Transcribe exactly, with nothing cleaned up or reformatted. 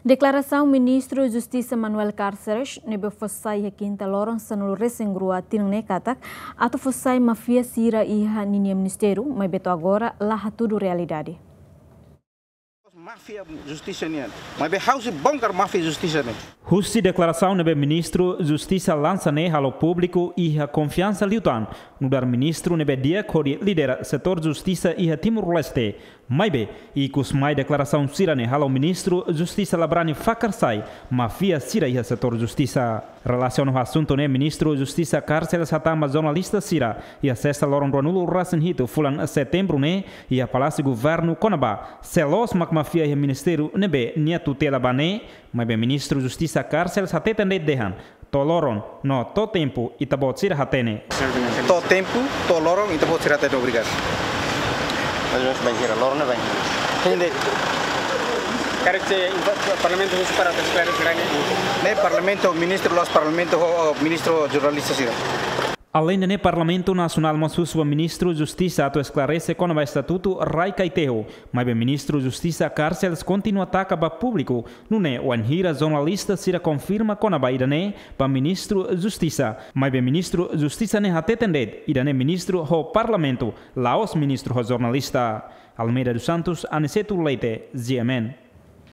Deklarasaun Ministru Justisa Manuel Cárceles ne'ebé fó sai iha kinta loron sanulu resin rua tinan ne'e katak atu fó sai máfia sira iha ninia ministériu, maibé to'o agora la hatudu realidade. Máfia justisa nian. Maibé ha'u sei bongkar máfia justisa ne'e. Husi deklarasaun ne'ebé Ministru Justisa lansa ne'e halo públiku iha konfiansa liután nu'udar ministru ne'ebé di'ak hodi lidera setór justisa iha Timor-Leste. Maibé, ikus mai deklarasaun sira-ne'e halo Ministru Justisa la brani fakar sai máfia sira iha setór justisa. Relasiona ho asuntu ne'e, Ministru Justisa Cárceles hatán ba jornalista sira iha sesta loron ruanulu resin hitu fulan setembru ne'e iha Palásiu Governu kona-ba sé loos mak máfia iha ministériu ne'ebé nia tutela ba ne'e, maibé Ministru Justisa Cárceles hateten de'it dehan to'o loron no to'o tempu ita-boot sira hatene. To'o tempu, to'o loron ita-boot sira hatene. Obrigadu. Mas nós vai girar loron, não vai? Entende? Karik se infa-, Parlamentu husu para atu esklarese sira-ne'e. Ne'e Parlamentu, Ministru la'ós Parlamentu, ho, ho Ministru jornalista sira. Aleinde ne'e, Parlamentu Nasionál mós husu ba Ministru Justisa atu esklarese kona-ba estatutu rai Kaiteho. Maibé Ministru Justisa Cárceles kontinua taka ba públiku nune'e wainhira jornalista sira konfirma kona-ba ida-ne'e ba Ministru Justisa. Maibé Ministru Justisa ne'e hateten de'it ida-ne'e ministru ho Parlamentu, la'ós ministru ho jornalista. Almeida dos Santos, Aniceto Leite, G M N.